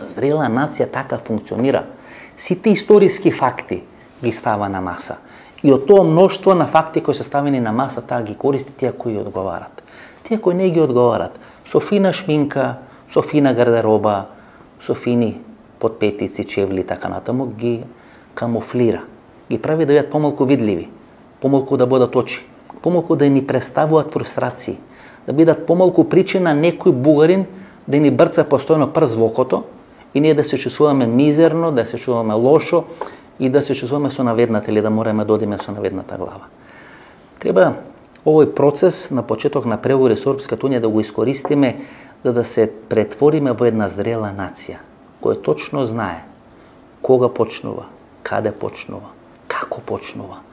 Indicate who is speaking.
Speaker 1: Зрела нација така функционира. Сите историски факти ги става на маса. И од тоа мноштво на факти кои се ставени на маса, таа ги користи тие кои одговарат. Тие кои не ги одговарат, со фина шминка, со фина гардероба, со фини подпетици, чевли и така натаму, ги камуфлира. Ги прави да бидат помалку видливи, помалку да бидат очи, помалку да ни представуваат фрустрации, да бидат помалку причина некој бугарин да ни брца постојано прст во окото и ние да се чувствуваме мизерно, да се чувствуваме лошо и да се чувствуваме со наведната или да мораме да одиме со наведната глава. Треба овој процес на почеток на преговори со Европската унија да го искористиме за да се претвориме во една зрела нација, која точно знае кога почнува, каде почнува, како почнува,